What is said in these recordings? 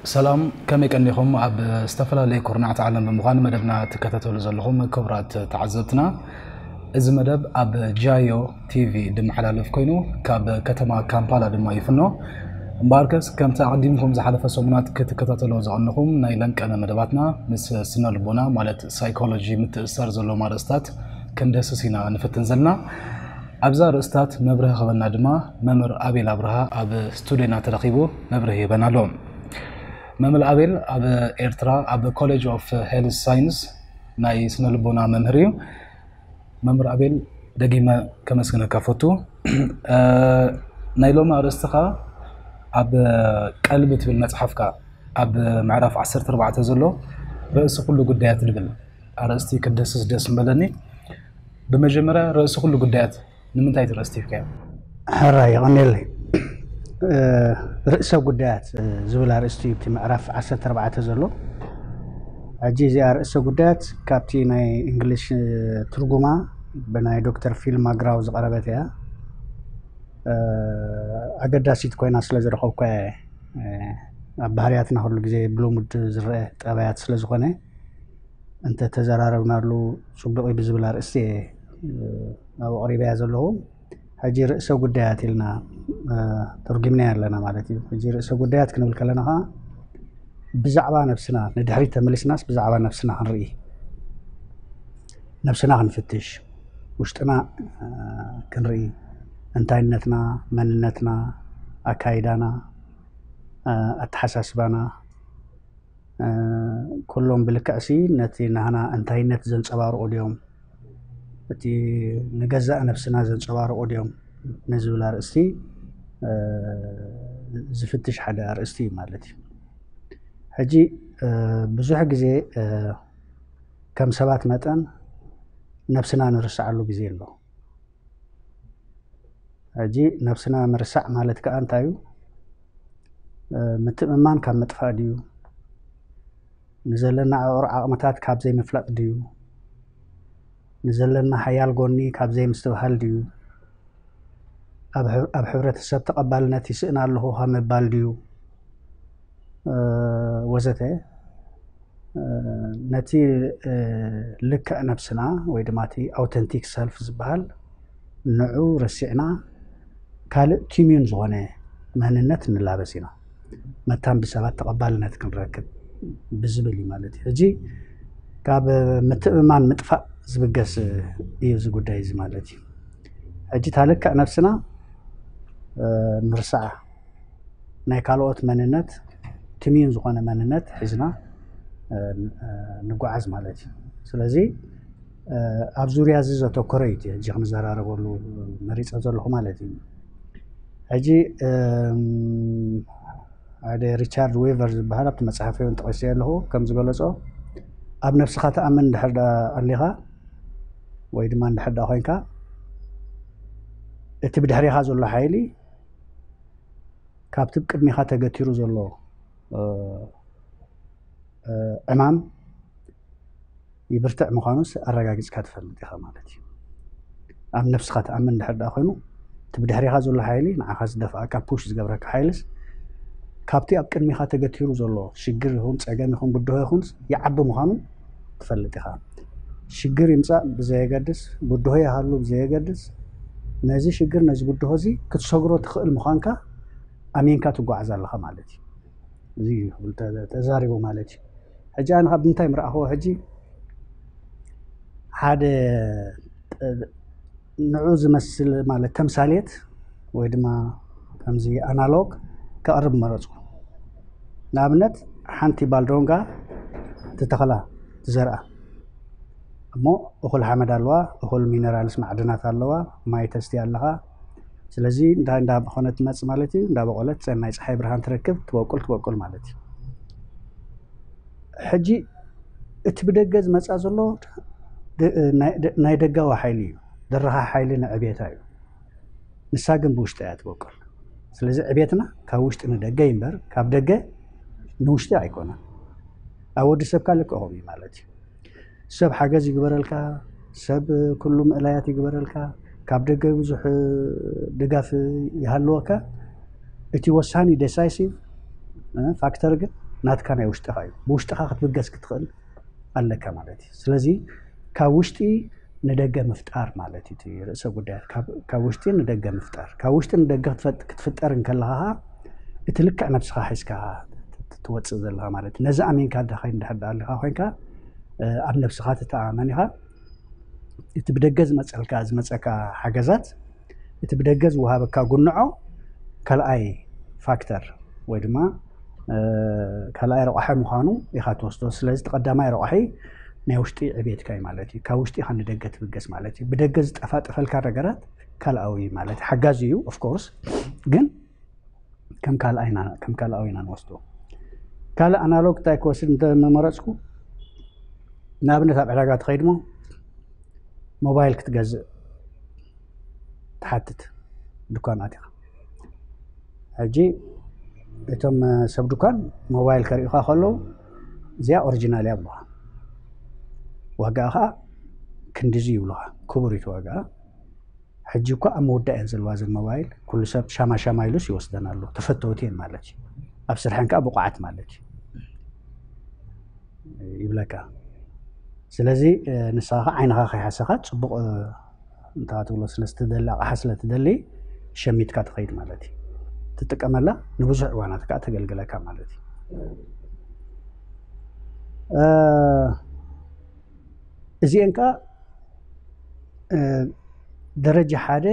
ሰላም፣ ከመይ ቀኒኹም? ኣብ ዝተፈላለዩ ኩርናዕቲ ዓለም ብምዃን መደብና ትከታተሉ ዘለኹም ክቡራት ተዓዘብትና፣ እዚ መደብ ኣብ ጃዮ ቲቪ ድመሓላለፍ ኮይኑ፣ ካብ ከተማ ካምፓላ ድማ ይፍኖ። እምበኣርከስ፣ ከምቲ ኣቐዲምኩም ዝሓለፈ ሰሙናት ክትከታተሎ ዝቐነኹም ናይ ለንቀነ መደባትና፣ ምስ ስነ ልቦና ማለት ሳይኮሎጂ ምትእስሳር ዘለዎም ኣርእስታት ክንደስስ ኢና ንፍትን ዘለና። ኣብዛ ኣርእስታት መብርሂ ክህበና ድማ መምህር ኣቤል ኣብርሃ ኣብ ስቱድዮና ተረኺቡ መብርሂ ይህበና ኣሎ። መምህር ኣቤል ኣብ ኤርትራ ኣብ ኮሌጅ ኦፍ ሄልዝ ሳይንስ ናይ ስነ ልቦና መምህር እዩ። መምህር ኣቤል፣ ደጊመ ከመስግነካ ፈቱ። እ፣ ናይ ሎሚ ኣርእስትኻ ኣብ ቀልቢ ትብል መጽሓፍካ ኣብ ምዕራፍ ዓሰርተ ኣርባዕተ ዘሎ ርእሲ ኩሉ ጉዳያት ዝብል ኣርእስቲ ክደስስ ደስ ምበለኒ። ብመጀመርያ ርእሲ ኩሉ ጉዳያት ንምንታይ ትረስቲፍካዮ? ሕራይ፣ የቐንየለይ። እ፣ ርእሰ ጉዳያት፣ እ፣ ዝብል ኣርእስቲ እዩ፣ እቲ ምዕራፍ ዓሰርተ ኣርባዕተ ዘሎ። ሕጂ እዚኣ ርእሰ ጉዳያት ካብቲ ናይ እንግሊሽ፣ እ፣ ትርጉማ ብናይ ዶክተር ፊል ማግራው ዝቐረበት እያ። እ፣ ኣገዳሲት ኮይና ስለ ዝረኸብኳ እየ። እ፣ ኣብ ባህርያትና ኩሉ ግዜ ብልሙድ ዝረአ ጠባያት ስለ ዝኾነ፣ እንተ ተዘራረብናሉ ጽቡቕ እዩ ብዝብል ኣርእስቲ እየ፣ እ፣ ኣብኡ ኣቕሪበያ ዘለኹ። ሕጂ ርእሰ ጉዳያት ኢልና፣ እ፣ ተርጒምናያ ኣለና ማለት እዩ። ሕጂ ርእሰ ጉዳያት ክንብል ከለና ኸኣ ብዛዕባ ነብስና ንድሕሪት ተመሊስናስ ብዛዕባ ነብስና ክንርኢ፣ ነብስና ክንፍትሽ፣ ውሽጥና፣ እ፣ ክንርኢ፣ እንታይነትና፣ መንነትና፣ ኣካይዳና፣ እ፣ ኣተሓሳስባና፣ እ፣ ኩሎም ብልክዕሲ ነቲ ናህና እንታይነት ዘንጸባርቑ ድዮም? እቲ ንገዛእ ነብስና ዘንጸባርቑ ድዮም? ንዝብል ኣርእስቲ፣ እ፣ ዝፍትሽ ሓደ ኣርእስቲ እዩ ማለት እዩ። ሕጂ፣ እ፣ ብዙሕ ግዜ፣ እ፣ ከም ሰባት መጠን ነብስና ንርስዓሉ ግዜ ኣሎ። ሕጂ ነብስና ምርሳዕ ማለት ከኣ እንታይ እዩ? እ፣ ምትእምማን ካብ ምጥፋእ ድዩ? ንዘለና ዕቑር ዓቕምታት ካብ ዘይምፍላጥ ድዩ? ንዘለና ሓያል ጎኒ ካብ ዘይምስትብሃል ድዩ? ኣብ ሕ-፣ ኣብ ሕብረተሰብ ተቐባልነት ይስእን ኣለኹ ካብ ምባል ድዩ? እ፣ ወዘተ። እ፣ ነቲ፣ እ፣ ልክዕ ነብስና ወይ ድማ እቲ ኣውተንቲክ ሰልፍ ዝበሃል ንዑ ረሲዕና ካልእ ቲምዩን ዝኾነ መንነት ንላበስ ኢና። መታን ብሰባት ተቐባልነት ክንረክብ ብዝብል እዩ ማለት እዩ። ሕጂ ካብ ምትእምማን ምጥፋእ ዝብገስ እዩ እዚ ጉዳይ እዚ ማለት እዩ። ሕጂ እታ ልክዕ ነብስና፣ እ፣ ንርስዓ። ናይ ካልኦት መንነት፣ ትምዩን ዝኾነ መንነት ሒዝና፣ እ፣ እ፣ ንጓዓዝ ማለት እዩ። ስለዚ፣ እ፣ ኣብ ዙርያ እዚ ዘተኮረ እዩ እቲ ሕጂ ክንዘራረበሉ መሪጸ ዘለኹ ማለት እዩ። ሕጂ፣ እም፣ ሓደ ሪቻርድ ዌቨር ዝበሃል ኣብቲ መጽሓፈይ እውን ጠቒሰዮ ኣለኹ፣ ከም ዝገለጾ፣ ኣብ ነብስኻ ትኣምን እንድሕር ደኣ ኣሊኻ ወይ ድማ እንድሕር ደኣ ኮይንካ፣ እቲ ብድሕሬኻ ዘሎ ሓይሊ ካብቲ ቅድሚኻ ተገቲሩ ዘሎ፣ እ፣ እ፣ ዕማም ይብርትዕ ምዃኑስ ኣረጋጊጽካ ትፈልጥ ኢኻ ማለት እዩ። ኣብ ነብስኻ ትኣምን እንድሕር ደኣ ኮይኑ፣ እቲ ብድሕሬኻ ዘሎ ሓይሊ፣ ንዓኻ ዝደፍኣካ፣ ፑሽ ዝገብረካ ሓይልስ፣ ካብቲ ኣብ ቅድሚኻ ተገቲሩ ዘሎ ሽግር ይኹን ጸገም ይኹን ብድሆ ይኹን ይዓቢ ምዃኑ ትፈልጥ ኢኻ። ሽግር ይምጻእ ብዘየገድስ፣ ብድሆ ይሃሉ ብዘየገድስ፣ ነዚ ሽግር ነዚ ብድሆ እዚ ክትሰግሮ ትኽእል ምዃንካ ኣሚንካ ትጓዓዝ ኣለኻ ማለት እዩ። እዚ እዩ ክብል ተ-፣ ተዛሪቡ ማለት እዩ። ሕጂ ኣነ ካብ ምንታይ ምረኣኽዎ ሕጂ ሓደ፣ እ፣ ንዑ ዝመስል ማለት ተምሳሌት ወይ ድማ ከምዚ ኣናሎግ ከቕርብ መረጽኩ። ንኣብነት ሓንቲ ባልዶንጋ ትተኽላ፣ ትዘርኣ፣ እሞ እኹል ሓመድ ኣለዋ፣ እኹል ሚነራልስ ማዕድናት ኣለዋ፣ ማይ ተስትያ ኣለኻ። ስለዚ እንዳ፣ እንዳኾነት ትመጽእ ማለት እዩ፣ እንዳበቆለት ናይ ጸሓይ ብርሃን ትረክብ፣ ትበቁል፣ ትበቁል ማለት እዩ። ሕጂ እቲ ብደገ ዝመጻ ዘሎ ደ-፣ ናይ፣ ናይ ደጋዊ ሓይሊ እዩ፣ ደረኻ ሓይሊ ንዕቤታ እዩ። ንሳ ግን ብውሽጢ እያ ትበቁል። ስለዚ ዕቤትና ካብ ውሽጢ ንደገ እዩ እምበር ካብ ደገ ንውሽጢ ኣይኮነን። ኣብ ወዲ ሰብ ካልእ ከምኡ እዩ ማለት እዩ። ሰብ ሓገዝ ይግበረልካ፣ ሰብ ኩሉ ምእላያት ይግበረልካ፣ ካብ ደገ ብዙሕ ድጋፍ ይሃልወካ። እቲ ወሳኒ ዴሳይሲቭ፣ እ፣ ፋክተር ግን ናትካ ናይ ውሽጥኻ እዩ። ብውሽጥኻ ክትብገስ ክትኽእል ኣለካ ማለት እዩ። ስለዚ ካብ ውሽጢ ንደገ ምፍጣር ማለት እዩ እቲ ርእሰ ጉዳያት። ካብ ውሽጢ ንደገ ምፍጣር፣ ካብ ውሽጢ ንደገ ክትፈጥ- ክትፍጠር እንከለኻ ኸዓ እቲ ልክዕ ነብስኻ ሒዝካ ትወፅእ ዘለኻ ማለት እዩ። ነዚ ኣሚንካ ዳኸይ እንድሕር ዳ ኣለኻ ኮይንካ ኣብ ነብስኻ ትተኣማመን ኢኻ። እቲ ብደገ ዝመፀልካ ዝመፀካ ሓገዛት፣ እቲ ብደገ ዝወሃበካ ጉንዖ ካልኣይ ፋክተር ወይ ድማ ካልኣይ ረቋሒ ምዃኑ ኢኻ ትወስዶ። ስለዚ እቲ ቀዳማይ ረቋሒ ናይ ውሽጢ ዕቤትካ እዩ ማለት እዩ። ካብ ውሽጢ ኢኻ ንደገ ትብገስ ማለት እዩ። ብደገ ዝጠፋጠፈልካ ነገራት ካልኣዊ ማለት ሓጋዚ እዩ ኦፍኮርስ፣ ግን ከም ካልኣይና ከም ካልኣዊና ንወስዶ። ካልእ ኣናሎግ እንታይ ክወስድ እንተመረፅኩ፣ ንኣብነት ኣብ ዕዳጋ ትኸይድ ሞ ሞባይል ክትገዝእ ትሓትት፣ ድኳን ኣቲኻ። ሕጂ እቶም ሰብ ድኳን ሞባይል ከርእዩኻ ከለዉ፣ እዚኣ ኦሪጂናል እያ ብሉኻ። ዋጋኣ ከዓ ክንድዚ ይብሉኻ። ክቡር እዩ እቲ ዋጋኣ። ሕጂ እኳ ኣብ ምውዳእ እየን ዘለዋ እዘን ሞባይል። ኩሉ ሰብ ሻማ ሻማ ኢሉስ ይወስደን ኣሎ። ተፈተውቲ እየን ማለት እዩ። ኣብ ስርሐን ከዓ ብቑዓት ማለት እዩ ይብለካ። ስለዚ ንስኻ ከዓ ዓይንኻ ከይሓሰኻ ፅቡቕ እንታ ትብሎ ስለ ስትደሊ ኣቕሓ ስለ ትደሊ ሸሚትካ ትኸይድ ማለት እዩ። ትጥቀመላ ንብዙሕ እዋናት ከዓ ተገልግለካ ማለት እዩ። እዚአን ከዓ ደረጃ ሓደ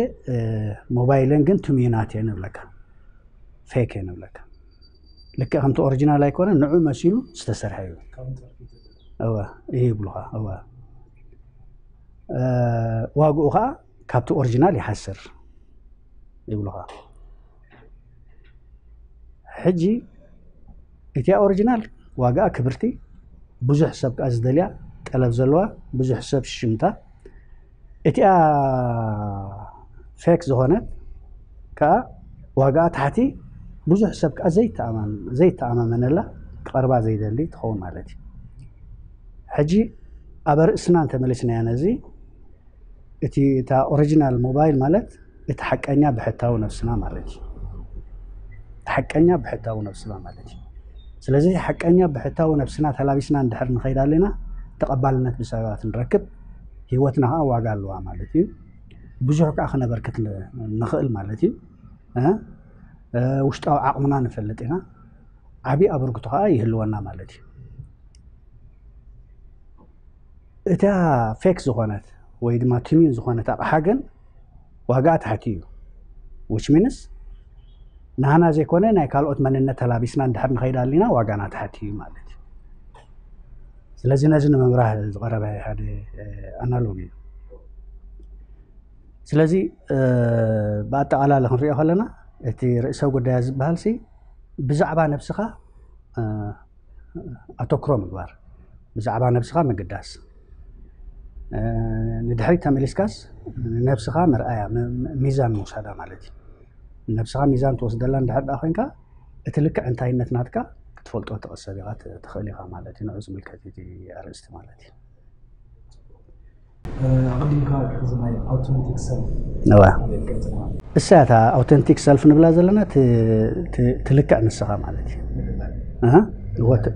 ሞባይለን ግን ትምዩናት እየን ንብለካ፣ ፌክ እየን ንብለካ። ልክዕ ከምቲ ኦሪጂናል ኣይኮነ፣ ንዑ መሲሉ ዝተሰርሐ እዩ። እወ፣ ይህ ይብሉኻ። እወ፣ ዋግኡ ከዓ ካብቲ ኦሪጂናል ይሓስር ይብሉኻ። ሕጂ እቲኣ ኦሪጂናል ዋጋኣ ክብርቲ፣ ብዙሕ ሰብ ከዓ ዝደልያ፣ ጠለብ ዘለዋ፣ ብዙሕ ሰብ ሽምታ። እቲኣ ፌክ ዝኾነት ከዓ ዋጋኣ ታሕቲ፣ ብዙሕ ሰብ ከዓ ዘይተኣማመነላ፣ ክቐርባ ዘይደሊ ትኸውን ማለት እዩ። ሕጂ ኣብ ርእስና እንተመሊስናያ ነዚ፣ እቲ እታ ኦሪጂናል ሞባይል ማለት እቲ ሓቀኛ ብሕታዊ ነብስና ማለት እዩ። እቲ ሓቀኛ ብሕታዊ ነብስና ማለት እዩ። ስለዚ ሓቀኛ ብሕታዊ ነብስና ተላቢስና እንድሕር ንኸይድ ኣለና፣ ተቐባልነት ብሰባት ንረክብ፣ ህይወትና ከዓ ዋጋ ኣለዋ ማለት እዩ። ብዙሕ ከዓ ክነበርክት ንኽእል ማለት እዩ። ውሽጣዊ ዓቕምና ንፈልጥ ኢና። ዓብዪ ኣበርክቶ ከዓ ይህልወና ማለት እዩ። እታ ፌክ ዝኾነት ወይ ድማ ትምዩን ዝኾነት ኣቕሓ ግን ዋጋኣ ትሓቲ እዩ። ዊች ሚንስ ናህና ዘይኮነ ናይ ካልኦት መንነት ተላቢስና እንድሕር ንኸይድ ኣሊና ዋጋና ትሓቲ እዩ ማለት እዩ። ስለዚ ነዚ ንምብራህ ዝቐረበ ሓደ ኣናሎግ እዩ። ስለዚ ብኣጠቓላሊ ክንሪኦ ከለና እቲ ርእሰ ጉዳያ ዝበሃል ሲ ብዛዕባ ነብስኻ ኣተኩሮ ምግባር፣ ብዛዕባ ነብስኻ ምግዳስ፣ ንድሕሪት ተመሊስካስ ንነብስኻ መርኣያ ሚዛን ምውሳዳ ማለት እዩ። ንነብስኻ ሚዛን ትወስደላ እንድሕር ደኣ ኮይንካ እቲ ልክዕ እንታይነት ናትካ ክትፈልጦ ትቕሰብ ኢኻ ትኽእል ኢኻ ማለት እዩ። ንዑ ዝምልከት እቲ ኣርእስቲ ማለት እዩ። ኣቐዲምካ እዚ ናይ ኣውቶማቲክ ሰልፍ እዋ እሳ እታ ኣውተንቲክ ሰልፍ ንብላ ዘለና ትልክዕ ንስኻ ማለት እዩ።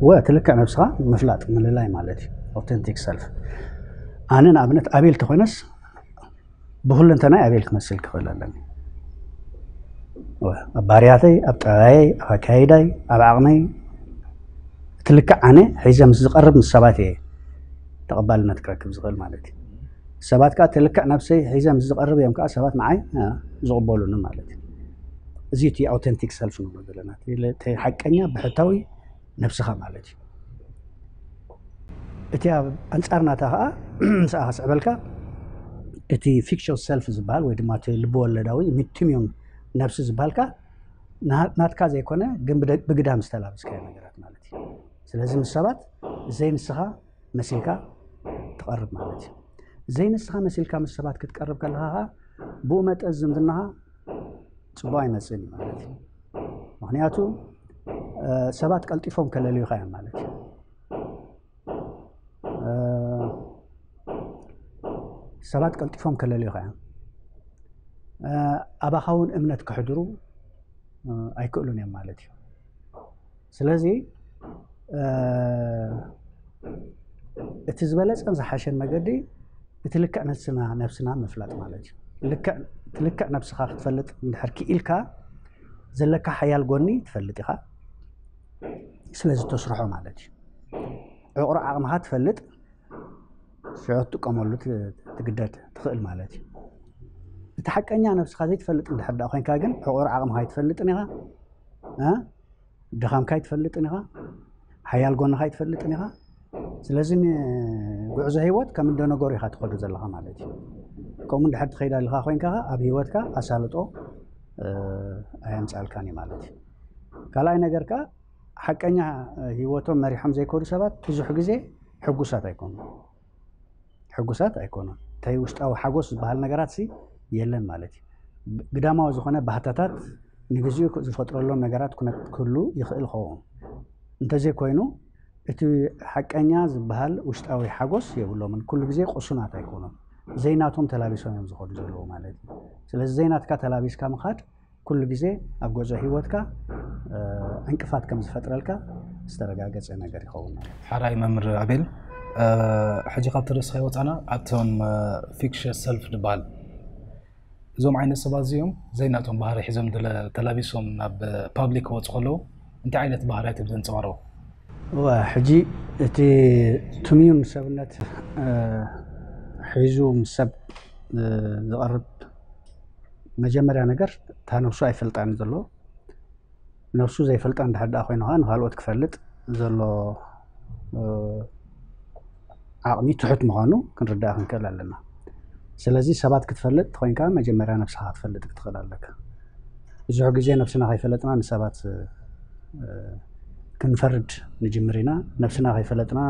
እወ ትልክዕ ነብስኻ ምፍላጥ ምልላይ ማለት እዩ። ኣውተንቲክ ሰልፍ ኣነ ንኣብነት ኣቤል ተኾይነስ ብኩለንተናይ ኣቤል ክመስል ክኽእል ኣለኒ። ኣብ ባህርያተይ፣ ኣብ ጠባየይ፣ ኣብ ኣካይዳይ፣ ኣብ ዓቕመይ እቲ ልክዕ ኣነ ሒዘ ምስ ዝቐርብ ምስ ሰባት እየ ተቐባልነት ክረክብ ዝኽእል ማለት እዩ። ሰባት ከዓ እቲ ልክዕ ነብሰይ ሒዘ ምስ ዝቐርብ እዮም ከዓ ሰባት ንዓይ ዝቕበሉኒ ማለት እዩ። እዚ እቲ ኣውተንቲክ ሰልፍ ንብሎ ዘለና እቲ ሓቀኛ ብሕታዊ ነብስኻ ማለት እዩ። እቲ ኣብ ኣንጻር ናታ ከዓ ምስኣ ክስዕበልካ እቲ ፊክሽን ሰልፍ ዝበሃል ወይ ድማ እቲ ልብወለዳዊ ሚቲሚዩም ነብሲ ዝበሃል ከዓ ናትካ ዘይኮነ ግን ብግዳም ዝተላበስካዮ ነገራት ማለት እዩ። ስለዚ ምስ ሰባት ዘይንስኻ መሲልካ ትቐርብ ማለት እዩ። ዘይንስኻ መሲልካ ምስ ሰባት ክትቀርብ ከለኻ ከዓ ብኡ መጠን ዝምድናኻ ፅቡቕ ኣይመፅእን እዩ ማለት እዩ። ምክንያቱ ሰባት ቀልጢፎም ከለልዩኻ እዮም ማለት እዩ። ሰባት ቀልጢፎም ከለልዩኻ እዮም። ኣባኻ እውን እምነት ክሕድሩ ኣይክእሉን እዮም ማለት እዩ። ስለዚ እቲ ዝበለፀን ዝሓሸን መገዲ እቲ ልክዕ ነስና ነብስና ምፍላጥ ማለት እዩ። እቲ ልክዕ ነብስኻ ክትፈልጥ እንድሕር ክኢልካ ዘለካ ሓያል ጎኒ ትፈልጥ ኢኻ። ስለዚ ተስርሖ ማለት እዩ። ዕቑር ዓቕምኻ ትፈልጥ ሽዑ ትጥቀመሉ ትግደድ ትኽእል ማለት እዩ። እቲ ሓቀኛ ነብስኻ ዘይትፈልጥ እንድሕር ዳ ኮይንካ ግን ዕቑር ዓቕምኻ ኣይትፈልጥን ኢኻ። ድኻምካ ኣይትፈልጥን ኢኻ። ሓያል ጎንኻ ኣይትፈልጥን ኢኻ። ስለዚ ንጉዕዞ ህይወት ከም እንደነገሩ ኢኻ ትኸዱ ዘለኻ ማለት እዩ። ከምኡ እንድሕር ትኸይድ ኣለኻ ኮይንካ ኣብ ህይወትካ ኣሳልጦ ኣየምፃልካን እዩ ማለት እዩ። ካልኣይ ነገር ከ ሓቀኛ ህይወቶም መሪሖም ዘይከዱ ሰባት ብዙሕ ግዜ ሕጉሳት ኣይኮኑ ሕጉሳት ኣይኮኑን። እንታይ ውሽጣዊ ሓጎስ ዝበሃል ነገራት ሲ የለን ማለት እዩ። ግዳማዊ ዝኾነ ባህታታት ንግዚኡ ዝፈጥረሎም ነገራት ክህሉ ይኽእል ኸውን። እንተዘይኮይኑ እቲ ሓቀኛ ዝበሃል ውሽጣዊ ሓጎስ የብሎምን። ኩሉ ግዜ ቁሱናት ኣይኮኑን። ዘይናቶም ተላቢሶም እዮም ዝኸዱ ዘለዉ ማለት እዩ። ስለዚ ዘይናትካ ተላቢስካ ምኻድ ኩሉ ግዜ ኣብ ጉዕዞ ህይወትካ ዕንቅፋት ከም ዝፈጥረልካ ዝተረጋገፀ ነገር ይኸውን ማለት እዩ። ሓራይ መምህር ኣቤል፣ ሕጂ ካብቲ ርእስኻ ይወፃና ኣብቶም ፊክሽን ሰልፍ ዝበሃል እዞም ዓይነት ሰባት እዚኦም ዘይናቶም ባህሪ ሒዞም ተላቢሶም ናብ ፓብሊክ ክወፁ ከለዉ እንታይ ዓይነት ባህርያት እዮም ዘንፀባርቑ? እወ፣ ሕጂ እቲ ትምዩን ሰብነት ሒዙ ምስ ሰብ ዝቐርብ መጀመርያ ነገር እታ ነብሱ ኣይፈልጣን ዘሎ። ነብሱ ዘይፈልጣ እንድሕር ደኣ ኮይኑ ከዓ ንካልኦት ክፈልጥ ዘሎ ዓቕሚ ትሑት ምዃኑ ክንርዳእ ክንክእል ኣለና። ስለዚ ሰባት ክትፈልጥ ተኮይንካ መጀመርያ ነብስኻ ክትፈልጥ ክትኽእል ኣለካ። ብዙሕ ግዜ ነብስና ከይፈለጥና ንሰባት ክንፈርድ ንጅምር ኢና። ነብስና ከይፈለጥና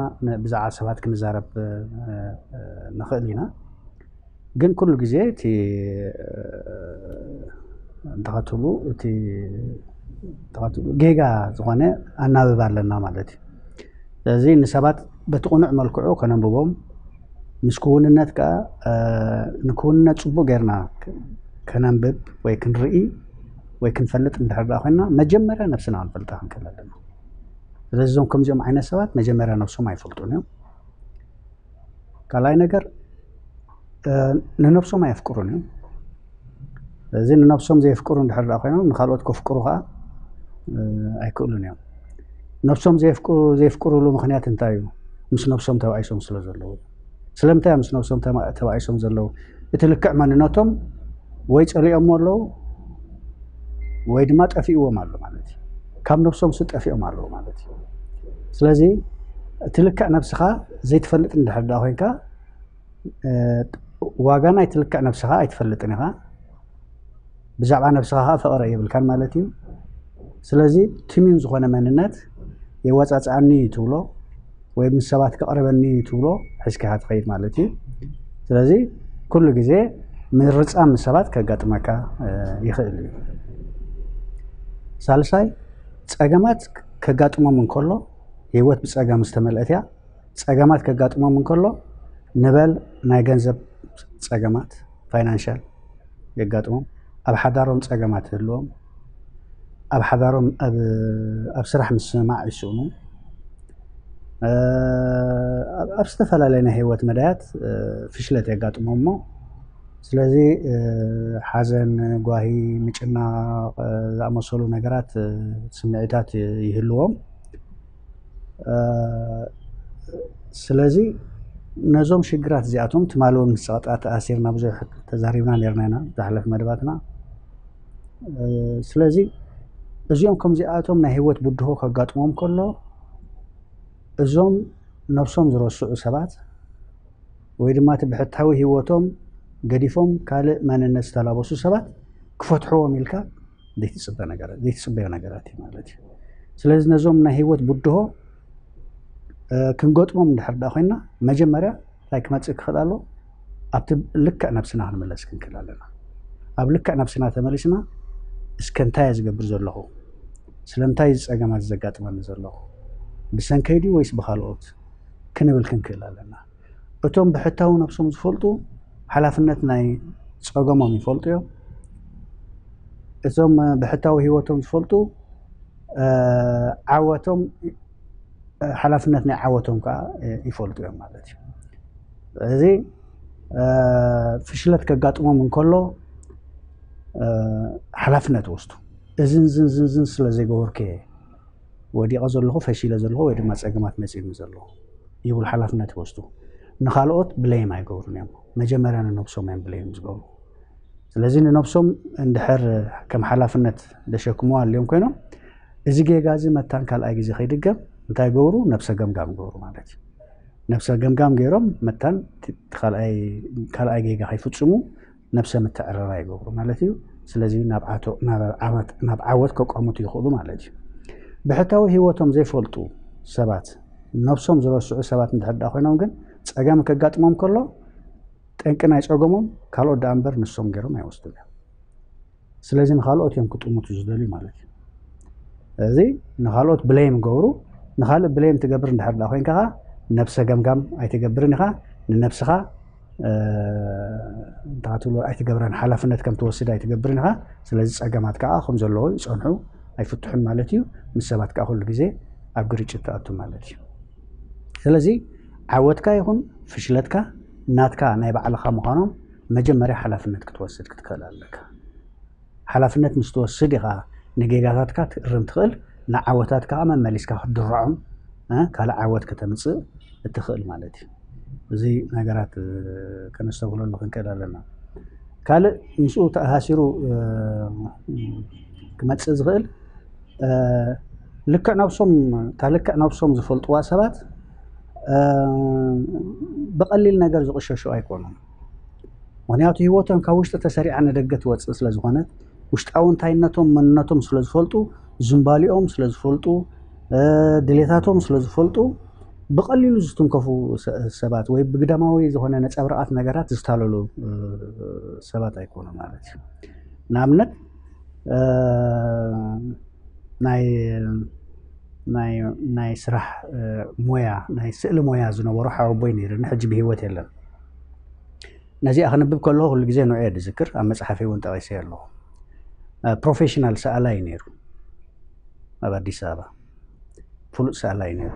ብዛዕባ ሰባት ክንዛረብ ንኽእል ኢና። ግን ኩሉ ግዜ እቲ እንተኸትሉ እቲ ጌጋ ዝኾነ ኣናብብ ኣለና ማለት እዩ። ስለዚ ንሰባት በቲ ቅኑዕ መልክዑ ከነንብቦም ምስ ክውንነት ከዓ ንክውንነት ፅቡቅ ጌርና ከነንብብ ወይ ክንርኢ ወይ ክንፈልጥ እንድሕር ደኣ ኮይና መጀመርያ ነብስና ክንፈልጣ ክንክእል ኣለና። ስለዚ እዞም ከምዚኦም ዓይነት ሰባት መጀመርያ ነብሶም ኣይፈልጡን እዮም። ካልኣይ ነገር ንነብሶም ኣየፍቅሩን እዮም። ስለዚ ንነብሶም ዘየፍቅሩ እንድሕር ደኣ ኮይኖም ንካልኦት ከፍቅሩ ከዓ ኣይክእሉን እዮም። ነብሶም ዘየፍቅሩሉ ምክንያት እንታይ እዩ? ምስ ነብሶም ተባኢሶም ስለ ዘለዉ። ስለምንታይ ምስ ነብሶም ተባኢሶም ዘለዉ? እቲ ልክዕ መንነቶም ወይ ፀሊኦሞ ኣለዉ ወይ ድማ ጠፊእዎም ኣሎ ማለት እዩ። ካብ ነብሶም ስ ጠፊኦም ኣለዉ ማለት እዩ። ስለዚ እቲ ልክዕ ነብስኻ ዘይትፈልጥ እንድሕር ደኣ ኮይንካ ዋጋ ናይ ትልክዕ ነብስኻ ኣይትፈልጥን ኢኻ። ብዛዕባ ነብስኻ ከዓ ፍቕሪ የብልካን ማለት እዩ። ስለዚ ትምዩን ዝኾነ መንነት የዋፃፅኣኒ እዩ ትብሎ ወይ ምስ ሰባት ክቕርበኒ እዩ ትብሎ ሒዝካ ኢኻ ትኸይድ ማለት እዩ። ስለዚ ኩሉ ግዜ ምርፃም ምስ ሰባት ከጋጥመካ ይኽእል እዩ። ሳልሳይ ፀገማት ከጋጥሞም እንከሎ ህይወት ብፀገም ዝተመልአት እያ። ፀገማት ከጋጥሞም እንከሎ ንበል ናይ ገንዘብ ፀገማት ፋይናንሻል የጋጥሞም። ኣብ ሓዳሮም ፀገማት ይህልዎም። ኣብ ሓዳሮም ኣብ ስራሕ ምስማዕ ይስእኑ። ኣብ ዝተፈላለየ ናይ ህይወት መዳያት ፍሽለት የጋጥሞም እሞ ስለዚ ሓዘን፣ ጓሂ፣ ምጭናቕ ዝኣመሰሉ ነገራት ስምዒታት ይህልዎም። ስለዚ ነዞም ሽግራት እዚኣቶም ትማሊ እውን ምስ ፀቕጣ ተኣሲርና ብዙሕ ተዛሪብና ነርና ኢና ዝሓለፈ መደባትና። ስለዚ እዚኦም ከምዚኣቶም ናይ ህይወት ብድሆ ከጋጥሞም ከሎ እዞም ነብሶም ዝረስዑ ሰባት ወይ ድማ እቲ ብሕታዊ ህይወቶም ገዲፎም ካልእ መንነት ዝተላበሱ ሰባት ክፈትሕዎም ኢልካ ዘይትፅበ ነገራት ዘይትፅበዮ ነገራት እዩ ማለት እዩ። ስለዚ ነዞም ናይ ህይወት ብድሆ ክንገጥሞም እንድሕር ደኣ ኮይንና መጀመርያ እንታይ ክመፅእ ክኽእል ኣሎ? ኣብቲ ልክዕ ነብስና ክንምለስ ክንክእል ኣለና። ኣብ ልክዕ ነብስና ተመሊስና እስከ እንታይ እየ ዝገብር ዘለኹ? ስለምንታይ እዚ ፀገማት ዘጋጥመኒ ዘለኹ? ብሰንከይ ድዩ ወይስ ብካልኦት? ክንብል ክንክእል ኣለና። እቶም ብሕታዊ ነብሶም ዝፈልጡ ሓላፍነት ናይ ፀገሞም ይፈልጡ እዮም። እቶም ብሕታዊ ህይወቶም ዝፈልጡ ዓወቶም ሓላፍነት ናይ ዓወቶም ከዓ ይፈልጡ እዮም ማለት እዩ። እዚ ፍሽለት ከጋጥሞም እንከሎ ሓላፍነት ወስዱ። እዝን ዝን ዝን ዝን ስለ ዘይገበርኩ እየ ወዲቐ ዘለኹ፣ ፈሺለ ዘለኹ ወይ ድማ ፀገማት መፂኡኒ ዘለኹ ይብሉ፣ ሓላፍነት ይወስዱ። ንኻልኦት ብሌም ኣይገብሩን እዮም። መጀመርያ ንነብሶም እዮም ብሌም ዝገብሩ። ስለዚ ንነብሶም እንድሕር ከም ሓላፍነት ዘሸክምዋ ኣልዮም ኮይኖም፣ እዚ ጌጋ እዚ መታን ካልኣይ ግዜ ከይድገም እንታይ ገብሩ? ነብሰ ገምጋም ገብሩ ማለት እዩ። ነብሰ ገምጋም ገይሮም መታን ካልኣይ ጌጋ ከይፍፅሙ ነብሰ ምትዕርራ ይገብሩ ማለት እዩ። ስለዚ ናብ ዓወት ከቋምቱ ይኽእሉ ማለት እዩ። ብሕታዊ ህይወቶም ዘይፈልጡ ሰባት፣ ነብሶም ዝረስዑ ሰባት እንድሕር ደኣ ኮይኖም ግን ፀገም ከጋጥሞም ከሎ ጠንቂ ናይ ፀገሞም ካልኦት ደኣ እምበር ንሶም ገይሮም ኣይወስዱን እዮም። ስለዚ ንኻልኦት እዮም ክጥምቱ ዝደልዩ ማለት እዩ። እዚ ንኻልኦት ብሌም ገብሩ። ንኻልእ ብሌም ትገብር እንድሕር ደኣ ኮይንካ ነብሰ ገምጋም ኣይትገብርን ኢኻ። ንነብስኻ እንታይ ትብሎ ኣይትገብረን፣ ሓላፍነት ከም ትወስድ ኣይትገብርን ኢኻ። ስለዚ ፀገማት ከዓ ከም ዘለዉ ይፀንሑ ኣይፍትሑን ማለት እዩ። ምስ ሰባት ከዓ ኩሉ ግዜ ኣብ ግርጭት ትኣቱ ማለት እዩ። ስለዚ ዓወትካ ይኹን ፍሽለትካ ናትካ ናይ ባዕልኻ ምዃኖም መጀመርያ ሓላፍነት ክትወስድ ክትክእል ኣለካ። ሓላፍነት ምስ ትወስድ ኢኻ ንጌጋታትካ ክትእርም ትኽእል፣ ንዓወታትካ መመሊስካ ክትድርዖም ካልእ ዓወት ከተምፅእ እትኽእል ማለት እዩ። እዚ ነገራት ከነስተብህለሉ ክንክእል ኣለና። ካልእ ምስኡ ተኣሳሲሩ ክመፅእ ዝኽእል ልክዕ ነብሶም እታ ልክዕ ነብሶም ዝፈልጥዋ ሰባት ብቐሊል ነገር ዝቕሸሹ ኣይኮኑን። ምክንያቱ ህይወቶም ካብ ውሽጢ ተሰሪዓ ንደገ ትወፅእ ስለ ዝኾነት ውሽጣዊ እንታይነቶም መንነቶም ስለ ዝፈልጡ ዝንባሊኦም ስለ ዝፈልጡ ድሌታቶም ስለ ዝፈልጡ ብቐሊሉ ዝትንከፉ ሰባት ወይ ብግዳማዊ ዝኾነ ነፀብራቓት ነገራት ዝታለሉ ሰባት ኣይኮኑ ማለት እዩ። ንኣብነት ናይ ናይ ናይ ስራሕ ሞያ ናይ ስእሊ ሞያ ዝነበሮ ሓወቦይ ነይሩ ሕጂ ብህይወት የለን። ነዚኣ ክንብብ ከለኹ ኩሉ ግዜ ንዑ እየ ዝዝክር። ኣብ መፅሓፈይ እውን ጠቒሰ ኣለኹ። ፕሮፌሽናል ሰኣላይ ነይሩ ኣብ ኣዲስ ኣበባ ፍሉጥ ሰኣላይ ነይሩ።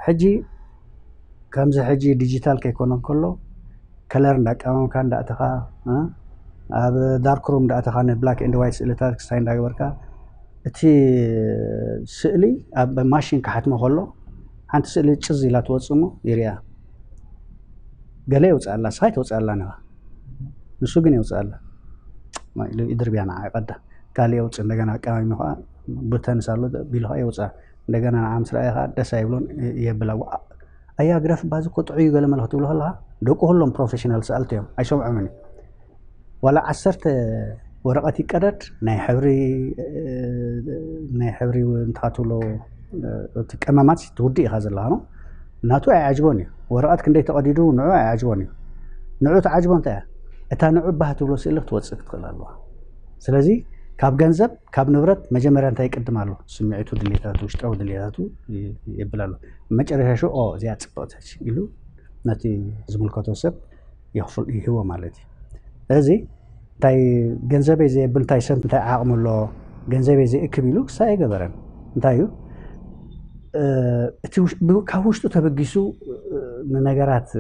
ሕጂ ከምዚ ሕጂ ዲጂታል ከይኮነ ከሎ ከለር እንዳቀመምካ እንዳእተኻ ኣብ ዳርክ ሩም እንዳእተኻ ንብላክ ኤንድ ዋይት ስእልታት ክስታይ እንዳገበርካ እቲ ስእሊ ኣብ ማሽን ክሓትሞ ከሎ ሓንቲ ስእሊ ጭዝ ኢላ ትወፅእ እሞ ይሪኣ። ገለ የውፅኣላ፣ ስኻ ይተውፅኣላ ንኻ ንሱ ግን የውፅኣላ ኢሉ ይድርብያ ንዓ ይቐዳ። ካልእ የውፅእ እንደገና ኣቀማሚሙ ከዓ ብተንስ ኣሎ ቢሉ ከዓ የውፅኣ። እንደገና ንዓ ምስ ረኣየ ከዓ ደስ ኣይብሎን የብላ። ኣያ ግደፍ ባዚ እኮ ጥዑይ እዩ ገለ መለ ክትብሎ ከለኻ ደቁ ኩሎም ፕሮፌሽናል ሰኣልቲ እዮም ኣይሰምዖምን እዩ። ዋላ ዓሰርተ ወረቐት ይቀደድ ናይ ሕብሪ ናይ ሕብሪ እንታይ ትብሎ እቲ ቀመማት ትውድእ ኢኻ ዘለኻ ነው ናቱ ኣይዓጅቦን እዩ። ወረቐት ክንደይ ተቐዲዱ ንዑ ኣይዓጅቦን እዩ። ንዑ ትዓጅቦ እንታይ እያ? እታ ንዑ ባህ ትብሎ ስእሊ ክትወፅእ ክትኽእል ኣለዋ። ስለዚ ካብ ገንዘብ ካብ ንብረት መጀመርያ እንታይ ይቅድም ኣሎ? ስምዒቱ፣ ድሌታቱ፣ ውሽጣዊ ድሌታቱ የብል ኣሎ። መጨረሻ ሽኡ ኦ እዚኣ ፅብቕቲ ኢሉ ነቲ ዝምልከቶ ሰብ ይህቦ ማለት እዩ። ስለዚ እንታይ ገንዘበይ ዘየብል እንታይ ሰብ እንታይ ዓቕሚ ኣሎ ገንዘበይ ዘይእክብ ኢሉ ክሳ ኣይገበረን። እንታይ እዩ እቲ ካብ ውሽጡ ተበጊሱ ንነገራት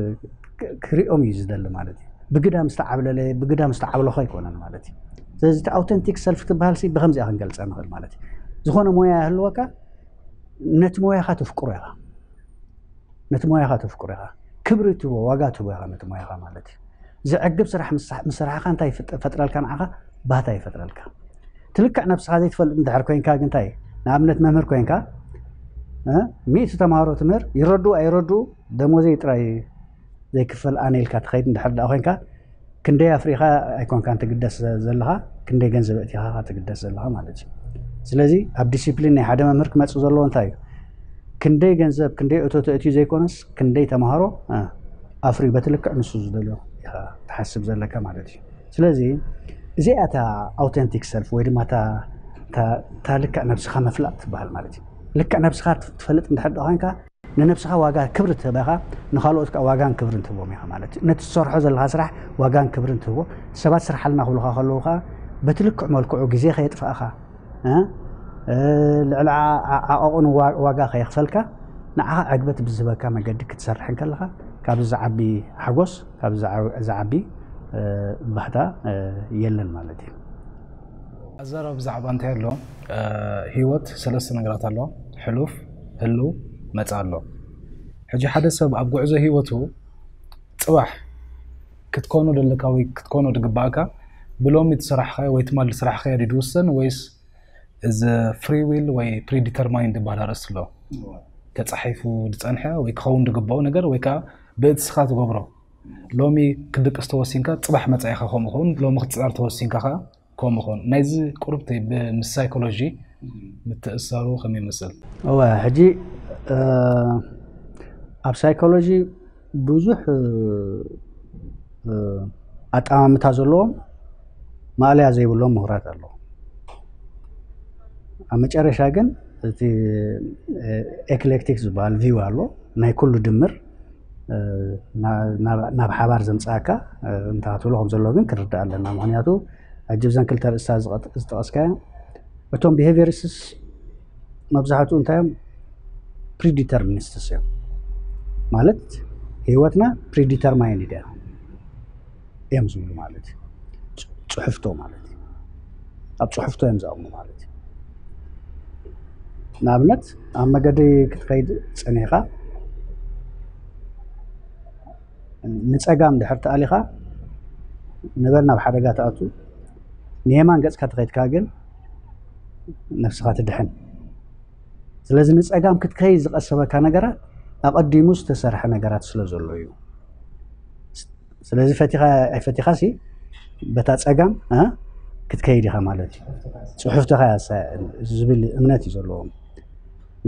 ክሪኦም እዩ ዝደሊ ማለት እዩ። ብግዳም ዝተዓብለለ ብግዳም ዝተዓብለኸ ኣይኮነን ማለት እዩ። ስለዚ እቲ ኣውተንቲክ ሰልፍ ትበሃል ሲ ብከምዚኣ ክንገልፀ ንኽእል ማለት እዩ። ዝኾነ ሞያ ይህልወካ ነቲ ሞያኻ ተፍቅሮ ኢኻ ነቲ ሞያኻ ተፍቅሮ ኢኻ ክብሪ ትቦ ዋጋ ትቦ ኢኻ ነቲ ሞያኻ ማለት እዩ። ዘዕግብ ስራሕ ምስራሕኻ እንታይ ፈጥረልካ ንዓኻ ባህታ ይፈጥረልካ። ትልክዕ ነብስኻ ዘይትፈልጥ እንድሕር ኮይንካ ግንታይ ንኣብነት መምህር ኮይንካ ሚእቲ ተምሃሮ ትምህር ይረድኡ ኣይረድኡ ደሞዘይ ጥራይ ዘይክፈል ኣነ ኢልካ ትኸይድ እንድሕር ደኣ ኮይንካ ክንደይ ኣፍሪኻ ኣይኮንካን ትግደስ ዘለኻ ክንደይ ገንዘብ እቲኻ ትግደስ ዘለኻ ማለት እዩ። ስለዚ ኣብ ዲሲፕሊን ናይ ሓደ መምህር ክመፅእ ዘለዎ እንታይ እዩ? ክንደይ ገንዘብ ክንደይ እቶት እትዩ ዘይኮነስ ክንደይ ተምሃሮ ኣፍርዩ በቲ ልክዕ ንሱ ዝደልዮ ኢኻ ትሓስብ ዘለካ ማለት እዩ። ስለዚ እዚኣ እታ ኣውተንቲክ ሰልፍ ወይ ድማ እታ ልክዕ ነብስኻ መፍላጥ ትበሃል ማለት እዩ። ልክዕ ነብስኻ ትፈልጥ እንድሕር ኮይንካ ንነብስኻ ዋጋ ክብሪ ትህበኻ ንካልኦት ከዓ ዋጋን ክብርን ትህቦም ኢኻ ማለት እዩ። ነቲ ትሰርሖ ዘለኻ ስራሕ ዋጋን ክብርን ትህቦ። ሰባት ስራሕ ኣልና ክብሉኻ ከለዉ ከዓ በቲ ልክዕ መልክዑ ግዜ ከየጥፋእኻ ልዕሊ ዓቐቕን ዋጋ ከየኽፈልካ ንዓኻ ዕግበት ብዝህበካ መገዲ ክትሰርሕ እንከለኻ ካብዚ ዝዓቢ ሓጎስ ካብዚ ዝዓቢ ባህታ የለን ማለት እዩ። ኣዛረብ ብዛዕባ እንታይ ኣሎ? ህይወት ሰለስተ ነገራት ኣሎ። ሕሉፍ፣ ህልው፣ መጻ ኣሎ። ሕጂ ሓደ ሰብ ኣብ ጉዕዞ ህይወቱ ጽባሕ ክትኮኖ ደለካ ወይ ክትኮኖ ድግባእካ ብሎሚ ትስራሕኻዮ ወይ ትማል ትስራሕኻዮ ድዩ ድውሰን ወይስ እዚ free will ወይ predetermined ዝበሃል ኣርእስቲ ኣሎ? ተጻሒፉ ዝጸንሐ ወይ ክኸውን ድግባኡ ነገር ወይ ከዓ ብእትስኻ ትገብሮ። ሎሚ ክድቅስ ተወሲንካ ጽባሕ መጻኢኻ ከምኡ ኸውን፣ ሎሚ ክትጻር ተወሲንካ ከዓ ከምኡ ኸውን። ናይዚ ቁርብቲ ምስ ሳይኮሎጂ ምትእሳሩ ከመይ ይመስል? እወ፣ ሕጂ ኣብ ሳይኮሎጂ ብዙሕ ኣጠማምታ ዘለዎም ማእለያ ዘይብሎም ምሁራት ኣለዉ። ኣብ መጨረሻ ግን እቲ ኤክሌክቲክ ዝበሃል ቪው ኣሎ፣ ናይ ኩሉ ድምር ናብ ሓባር ዘምፅኣካ እንታይ ክትብሎ ከም ዘለዎ ግን ክንርዳእ ኣለና። ምክንያቱ ሕጂ ብዘን ክልተ ርእስታት ዝጠቐስካዮ እቶም ቢሄቪየሪስትስ መብዛሕትኡ እንታይ እዮም? ፕሪዲተርሚኒስትስ እዮም። ማለት ህይወትና ፕሪዲተርማይንድ እያ እዮም ዝብሉ ማለት እዩ። ጽሑፍቶ ማለት እዩ። ኣብ ጽሑፍቶ እዮም ዝኣምኑ ማለት እዩ። ንኣብነት ኣብ መገዲ ክትኸይድ ጸኒሕካ ንጸጋም ድሕር ተኣሊኻ ንበል ናብ ሓደጋ ትኣቱ፣ ንየማን ገጽካ ተኸይድካ ግን ነፍስኻ ትድሕን። ስለዚ ንጸጋም ክትከይድ ዝቐሰበካ ነገራት ኣቐዲሙ ዝተሰርሐ ነገራት ስለ ዘሎ እዩ። ስለዚ ፈቲኻ ኣይፈቲኻ ሲ በታ ጸጋም ክትከይድ ኢኻ ማለት እዩ። ጽሑፍትኻ ዝብል እምነት እዩ ዘለዎም።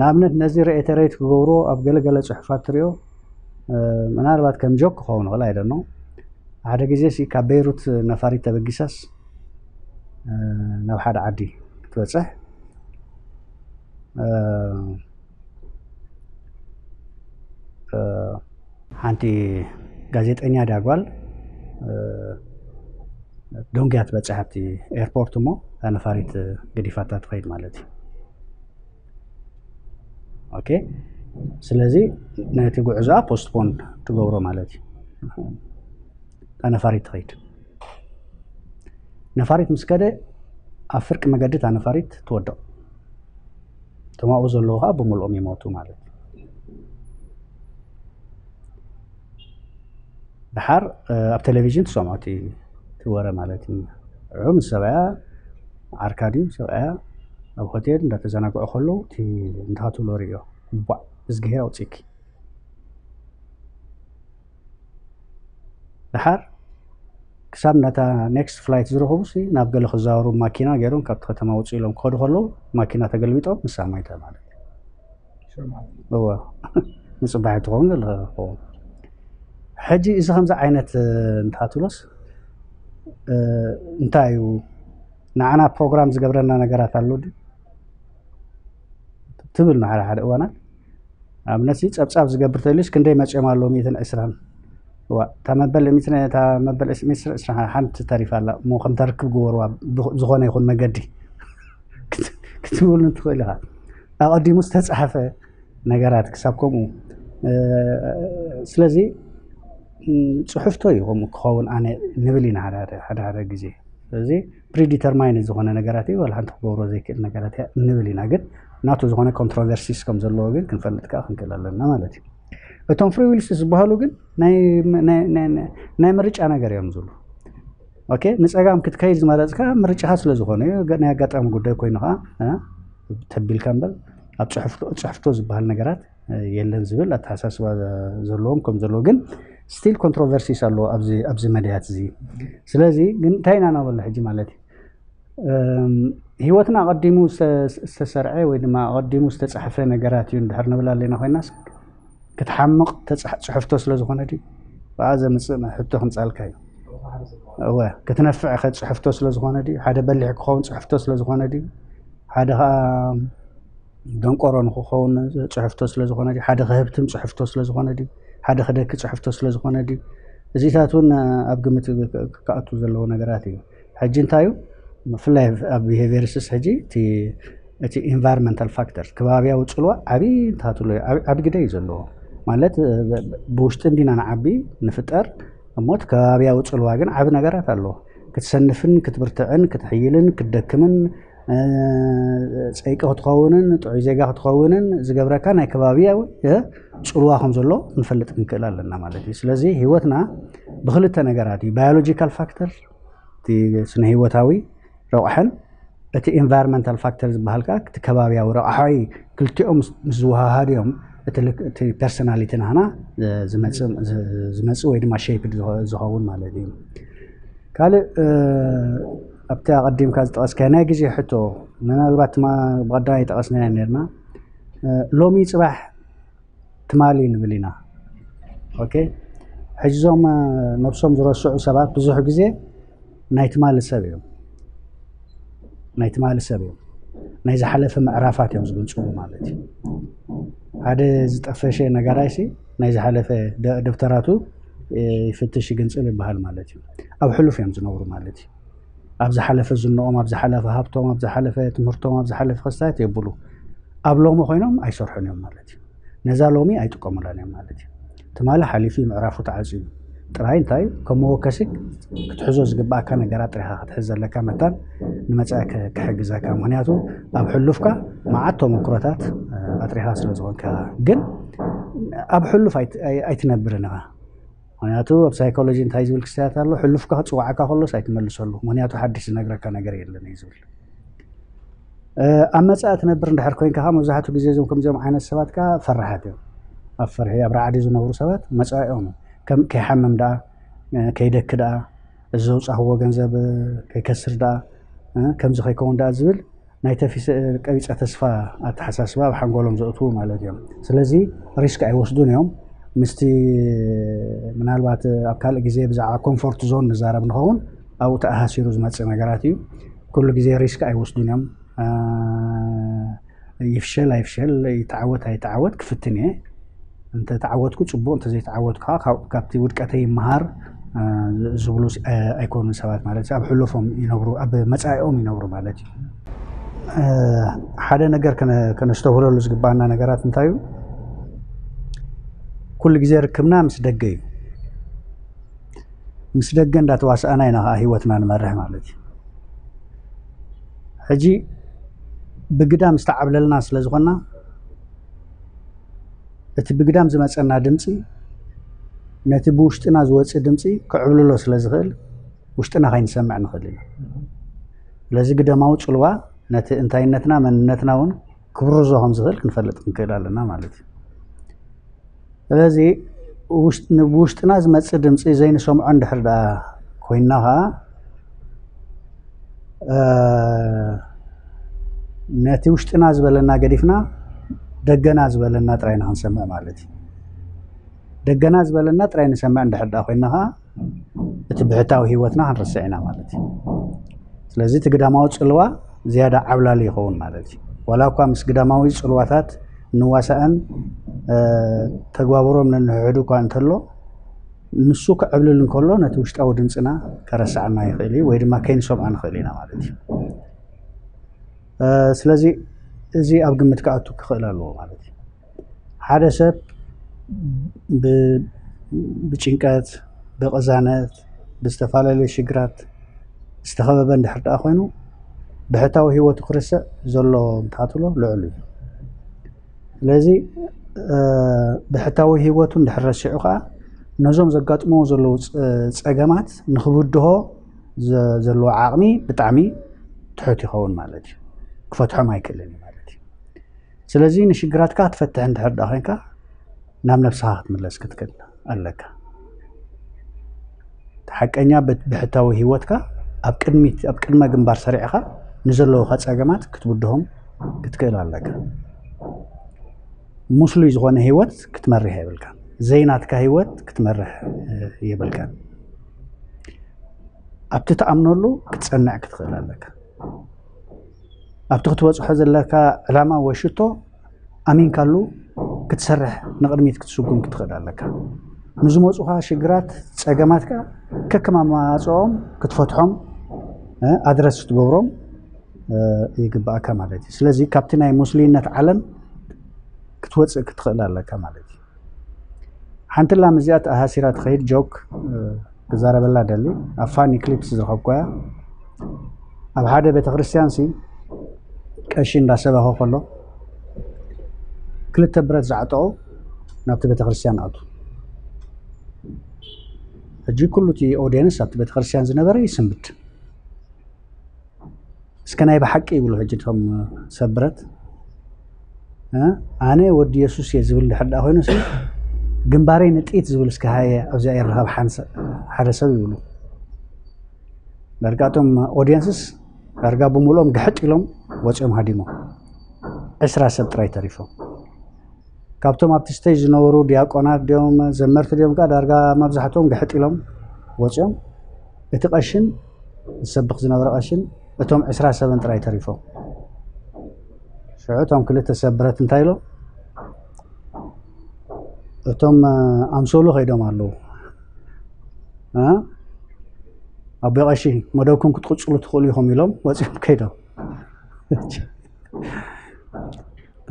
ንኣብነት ነዚ ሬተሬት ክገብርዎ ኣብ ገለገለ ጽሑፋት ትሪኦ ምናልባት ከም ጆክ ክኸውን ይኽእል ኣይደኖ ሓደ ግዜ ሲ ካብ ቤይሩት ነፋሪት ተበጊሳስ ናብ ሓደ ዓዲ ክትበፅሕ ሓንቲ ጋዜጠኛ ድያ ጓል ደንጉያ ትበፅሕ ኣብቲ ኤርፖርት እሞ እታ ነፋሪት ገዲፋታ ትኸይድ ማለት እዩ። ኦኬ ስለዚ ነቲ ጉዕዞኣ ፖስትፖን ትገብሮ ማለት እዩ። እታ ነፋሪት ትኸይድ ነፋሪት ምስ ከደ ኣብ ፍርቂ መገዲ እታ ነፋሪት ትወድቕ። እቶም ኣብኡ ዘለዉ ከዓ ብምልኦም ይሞቱ ማለት እዩ። ድሓር ኣብ ቴሌቪዥን ትሰምዖ እቲ ወረ ማለት እዩ። ንዑ ምስ ሰብኣያ ዓርካ ድዩ ሰብኣያ ኣብ ሆቴል እንዳተዘናግዑ ከለዉ እቲ እንታይ ክትብሎ ርእዮ ቧዕ እዝግሄር ኣውፅእኪ ድሓር ክሳብ ነታ ኔክስት ፍላይት ዝረኸቡ ሲ ናብ ገለ ክዛወሩ ማኪና ገይሮም ካብቲ ከተማ ውፅእ ኢሎም ክኸዱ ከለዉ ማኪና ተገልቢጦም ንሳ ሞይታ ማለት እዩ። እወ ንፅባሕ ትኸውን ዘለካ ክኸውን ሕጂ እዚ ከምዚ ዓይነት እንታይ ትብሎስ እንታይ እዩ ንዓና ፕሮግራም ዝገብረና ነገራት ኣሎ ድዩ ትብል ንሓደ ሓደ እዋናት ኣብነት ጸብጻብ ዝገብር ተልዩስ ክንደይ መጺኦም ኣለዉ ሚእትን ዕስራን እዋ እታ መበል ሚእትን እታ መበል ሚእትን ዕስራን ሓንቲ ተሪፋ ኣላ እሞ ከም ተርክብ ግበርዋ ዝኾነ ይኹን መገዲ ክትብሉ ትኽእል ኢኻ ኣቐዲሙ ዝተጻሕፈ ነገራት ክሳብ ከምኡ ስለዚ ጽሑፍቶ እዩ ከምኡ ክኸውን ኣነ ንብል ኢና ሓደ ሓደ ግዜ ስለዚ ፕሪዲተርማይን ዝኾነ ነገራት እዩ ዋላ ሓንቲ ክገብሮ ዘይክእል ነገራት እያ ንብል ኢና ግን ናቱ ዝኾነ ኮንትሮቨርሲስ ከም ዘለዎ ግን ክንፈልጥ ከዓ ክንክእል ኣለና ማለት እዩ እቶም ፍሪ ዊልስ ዝበሃሉ ግን ናይ ምርጫ ነገር እዮም ዝብሉ ኦኬ ንፀጋም ክትከይድ ዝመረፅካ ምርጫኻ ስለ ዝኾነ እዩ ናይ ኣጋጣሚ ጉዳይ ኮይኑ ከዓ ተቢልካ እምበር ኣብ ፅሕፍቶ ዝበሃል ነገራት የለን ዝብል ኣተሓሳስባ ዘለዎም ከም ዘለዎ ግን ስቲል ኮንትሮቨርሲስ ኣለዎ ኣብዚ መድያት እዚ ስለዚ ግን እንታይ ኢና ናበሎ ሕጂ ማለት እዩ ህይወትና ኣቐዲሙ ዝተሰርዐ ወይ ድማ ኣቐዲሙ ዝተፃሕፈ ነገራት እዩ እንድሕር ንብል ኣለና ኮይናስ ክትሓምቕ ተፃሕ- ፅሕፍቶ ስለ ዝኾነ ድዩ ብኣ ዘምፅእ ሕቶ ክምፃልካ እዩ እወ ክትነፍዕ ከ ፅሕፍቶ ስለ ዝኾነ ድዩ ሓደ በሊሕ ክኸውን ፅሕፍቶ ስለ ዝኾነ ድዩ ሓደ ከዓ ደንቆሮ ንክኸውን ፅሕፍቶ ስለ ዝኾነ ድዩ ሓደ ክህብትም ፅሕፍቶ ስለ ዝኾነ ድዩ ሓደ ክደኪ ፅሕፍቶ ስለ ዝኾነ ድዩ እዚታት እውን ኣብ ግምት ክኣቱ ዘለዎ ነገራት እዩ ሕጂ እንታይ እዩ ብፍላይ ኣብ ቢሄቪየርስስ ሕጂ እቲ እቲ environmental factor ከባብያዊ ፅልዋ ዓብዪ እንታትሎ ዓብ ግደ እዩ ዘለዎ። ማለት ብውሽጢ እንዲና ንዓቢ ንፍጠር፣ እሞ እቲ ከባብያዊ ፅልዋ ግን ዓብ ነገራት ኣለዎ። ክትሰንፍን ክትብርትዕን ክትሕይልን ክትደክምን፣ ፀይቂ ክትኸውንን ጥዑይ ዜጋ ክትኸውንን ዝገብረካ ናይ ከባብያዊ ፅልዋ ከም ዘሎ ክንፈልጥ ክንክእል ኣለና ማለት እዩ። ስለዚ ህይወትና ብክልተ ነገራት እዩ። Biological factor፣ እቲ ስነ ህይወታዊ ረቑሐን፣ እቲ environmental factor ዝበሃል ከዓ እቲ ከባብያዊ ረቑሓዊ። ክልቲኦም ምስ ዝወሃሃዱ እዮም እቲ personality ናህና ዝመፅእ ወይ ድማ shape ዝኸውን ማለት እዩ። ካልእ ኣብቲ ኣቐዲምካ ዝጠቐስካዮ ናይ ግዜ ሕቶ፣ ምናልባት ብቐዳማይ ጠቐስናዮ ነርና። ሎሚ ፅባሕ ትማሊ ንብል ኢና። ኦኬ፣ ሕጂ እዞም ነብሶም ዝረስዑ ሰባት ብዙሕ ግዜ ናይ ትማሊ ሰብ እዮም። ናይ ትማሊ ሰብ እዮም። ናይ ዝሓለፈ ምዕራፋት እዮም ዝግንፅሉ ማለት እዩ። ሓደ ዝጠፈሸ ነጋዳይሲ ናይ ዝሓለፈ ደብተራቱ ይፍትሽ ይግንፅል ይበሃል ማለት እዩ። ኣብ ሕሉፍ እዮም ዝነብሩ ማለት እዩ። ኣብ ዝሓለፈ ዝንኦም፣ ኣብ ዝሓለፈ ሃብቶም፣ ኣብ ዝሓለፈ ትምህርቶም፣ ኣብ ዝሓለፈ ክስታያት የብሉ። ኣብ ሎሚ ኮይኖም ኣይሰርሑን እዮም ማለት እዩ። ነዛ ሎሚ ኣይጥቀሙላን እዮም ማለት እዩ። ትማሊ ሓሊፉ ምዕራፉ ተዓፅዩ ጥራይ እንታይ ከም መወከሲ ክትሕዞ ዝግባኣካ ነገራት ጥሪኻ ክትሕዝ ዘለካ መታን ንመፃኢ ክሕግዘካ። ምክንያቱ ኣብ ሕሉፍካ መዓት ተመክሮታት ኣጥሪኻ ስለ ዝኾንካ። ግን ኣብ ሕሉፍ ኣይትነብርን ኢኻ። ምክንያቱ ኣብ ሳይኮሎጂ እንታይ ዝብል ክስታያት ኣሎ? ሕሉፍካ ክፅዋዕካ ከሎስ ኣይትመልሰሉ፣ ምክንያቱ ሓድሽ ዝነግረካ ነገር የለን እዩ ዝብል። ኣብ መፃኢ ትነብር እንድሕር ኮይንካ ከዓ መብዛሕትኡ ግዜ እዞም ከምዚኦም ዓይነት ሰባት ከዓ ፈራሓት እዮም። ኣብ ፍርሒ ኣብ ራዕዲ ዝነብሩ ሰባት መፃኢኦም ከም ከይሓምም ደኣ፣ ከይደኪ ደኣ፣ እዚ ዘውፃእክዎ ገንዘብ ከይከስር ደኣ፣ ከምዚ ከይከውን ደኣ ዝብል ናይ ተፊሰ ቀቢፀ ተስፋ ኣተሓሳስባ ኣብ ሓንጎሎም ዘእትዉ ማለት እዮም። ስለዚ ሪስክ ኣይወስዱን እዮም። ምስቲ ምናልባት ኣብ ካልእ ግዜ ብዛዕባ ኮምፎርት ዞን ንዛረብ ንኸውን፣ ኣብኡ ተኣሳሲሩ ዝመፅእ ነገራት እዩ። ኩሉ ግዜ ሪስክ ኣይወስዱን እዮም። ይፍሸል ኣይፍሸል፣ ይተዓወት ኣይተዓወት ክፍትን እየ። እንተ ተዓወትኩ ፅቡቕ፣ እንተ ዘይተዓወትኩ ከዓ ካብቲ ውድቀተይ ይመሃር ዝብሉ ኣይኮኑን ሰባት ማለት እዩ። ኣብ ሕሉፎም ይነብሩ፣ ኣብ መፃኢኦም ይነብሩ ማለት እዩ። ሓደ ነገር ከነስተውህለሉ ዝግባኣና ነገራት እንታይ እዩ? ኩሉ ግዜ ርክብና ምስ ደገ እዩ። ምስ ደገ እንዳተዋስኣና ኢና ከዓ ህይወትና ንመርሕ ማለት እዩ። ሕጂ ብግዳም ዝተዓብለልና ስለ ዝኾንና፣ እቲ ብግዳም ዝመፀና ድምፂ ነቲ ብውሽጥና ዝወፅእ ድምፂ ክዕብልሎ ስለ ዝኽእል ውሽጥና ከይንሰምዕ ንኽእል ኢና። ስለዚ ግደማዊ ፅልዋ ነቲ እንታይነትና መንነትና እውን ክብርዞ ከም ዝኽእል ክንፈልጥ ክንክእል ኣለና ማለት እዩ። ስለዚ ብውሽጥና ዝመፅእ ድምፂ ዘይንሰምዖ እንድሕር ደኣ ኮይንና ከዓ ነቲ ውሽጥና ዝበለና ገዲፍና ደገና ዝበለና ጥራይና ክንሰምዕ ማለት እዩ። ደገና ዝበለና ጥራይ ንሰምዕ እንድሕር ደኣ ኮይንና ከዓ እቲ ብሕታዊ ህይወትና ክንርስዕ ኢና ማለት እዩ። ስለዚ እቲ ግዳማዊ ፅልዋ ዝያዳ ዓብላሊ ይኸውን ማለት እዩ። ዋላ እኳ ምስ ግዳማዊ ፅልዋታት ንዋሳእን ተግባብሮም ነንሕሕዱ እኳ እንተሎ፣ ንሱ ክዕብልል እንከሎ ነቲ ውሽጣዊ ድምፅና ከረስዓና ይኽእል እዩ ወይ ድማ ከይንሰምዖ ንኽእል ኢና ማለት እዩ። ስለዚ እዚ ኣብ ግምት ክኣቱ ክኽእል ኣለዎ ማለት እዩ። ሓደ ሰብ ብጭንቀት፣ ብቕዛነት፣ ብዝተፈላለዩ ሽግራት ዝተኸበበ እንድሕር ደኣ ኮይኑ ብሕታዊ ህይወቱ ክርስዕ ዘሎ እንተትብሎ ልዑል እዩ። ስለዚ ብሕታዊ ህይወቱ እንድሕር ረሲዑ ከዓ ነዞም ዘጋጥምዎ ዘለዉ ፀገማት ንክብድሆ ዘለዎ ዓቕሚ ብጣዕሚ ትሑት ይኸውን ማለት እዩ። ክፈትሖም ኣይክእልን እዩ ማለት እዩ። ስለዚ ንሽግራትካ ክትፈትሕ እንድሕር ደኣ ኮይንካ ናብ ነብስኻ ክትምለስ ክትክእል ኣለካ። ሓቀኛ ብሕታዊ ህይወትካ ኣብ ቅድሚት ኣብ ቅድመ ግንባር ሰሪዕኻ ንዘለዉካ ፀገማት ክትብድሆም ክትክእል ኣለካ። ሙስሉይ ዝኾነ ህይወት ክትመርሕ የብልካ። ዘይናትካ ህይወት ክትመርሕ የብልካ። ኣብቲ ትኣምነሉ ክትፀንዕ ክትኽእል ኣለካ። ኣብቲ ክትበፅሖ ዘለካ ዕላማ ወይ ሽቶ ኣሚንካሉ ክትሰርሕ ንቕድሚት ክትስጉም ክትኽእል ኣለካ። ንዝመፁኻ ሽግራት ፀገማትካ ከከም ኣማፅኦም ክትፈትሖም ኣድረስ ክትገብሮም ይግባእካ ማለት እዩ። ስለዚ ካብቲ ናይ ሙስሊምነት ዓለም ክትወፅእ ክትኽእል ኣለካ ማለት እዩ። ሓንቲ ላም እዚኣ ተኣሃሲራ ትኸይድ ጆክ ክዛረበላ ደሊ ኣብ ፋኒ ክሊፕስ ዝረኸብኩያ። ኣብ ሓደ ቤተክርስትያን ሲ ቀሺ እንዳሰበኸ ከሎ ክልተ ብረት ዝዓጠቑ ናብቲ ቤተክርስትያን ኣቱ። ሕጂ ኩሉ እቲ ኦዲየንስ ኣብቲ ቤተክርስትያን ዝነበረ ይስንብድ። እስከ ናይ ብሓቂ ይብሉ ሕጂ እቶም ሰብ ብረት ኣነ ወዲ የሱስ እየ ዝብል ድሕር ዳ ኮይኑ ግንባረይ ንጥይት ዝብል እስከ ሃየ ኣብዚኣ ይረኸብ ሓደ ሰብ ይብሉ። ዳርጋ እቶም ኦዲየንስስ ዳርጋ ብምልኦም ግሕጥ ኢሎም ወፂኦም ሃዲሞም። ዕስራ ሰብ ጥራይ ተሪፎም። ካብቶም ኣብቲ ስተጅ ዝነበሩ ዲያቆናት ድዮም ዘመርቲ ድዮም ከዓ ዳርጋ መብዛሕትኦም ግሕጥ ኢሎም ወፂኦም። እቲ ቀሽን ዝሰብኽ ዝነበረ ቀሽን እቶም ዕስራ ሰብን ጥራይ ተሪፎም። ሽዑ እቶም ክልተ ሰብ ብረት እንታይ ኢሎም? እቶም ኣምሶሉ ከይዶም ኣለዉ። ኣቦ ቀሺ መደብኩም ክትቅፅሉ ትኽእሉ ኢኹም ኢሎም ወፂኦም ከይዶም።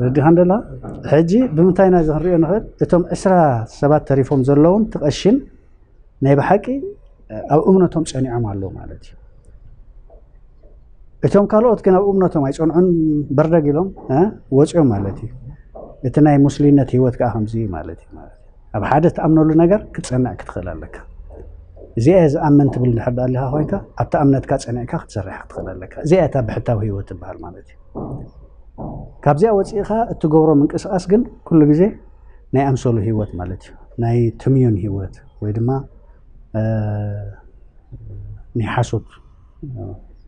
ረዲኻ እንደላ ሕጂ ብምንታይ ኢና እዚ ክንሪኦ ንኽእል? እቶም ዕስራ ሰባት ተሪፎም ዘለውን ትቐሽን ናይ ብሓቂ ኣብ እምነቶም ፀኒዖም ኣለዉ ማለት እዩ። እቶም ካልኦት ግን ኣብ እምነቶም ኣይፀንዑን፣ በርደግ ኢሎም ወፂኦም ማለት እዩ። እቲ ናይ ሙስሊምነት ህይወት ከዓ ከምዚ ማለት እዩ ማለት እዩ። ኣብ ሓደ ትኣምነሉ ነገር ክትፀንዕ ክትኽእል ኣለካ። እዚኣ ዝኣምን ትብል እንድሕር ዳኣ ኣለካ ኮይንካ ኣብቲ እምነትካ ፀኒዕካ ክትሰርሕ ክትኽእል ኣለካ። እዚኣ እታ ብሕታዊ ህይወት ትበሃል ማለት እዩ። ካብዚኣ ወፂእኻ እትገብሮ ምንቅስቃስ ግን ኩሉ ግዜ ናይ ኣምሰሉ ህይወት ማለት እዩ። ናይ ትምዩን ህይወት ወይ ድማ ናይ ሓሶት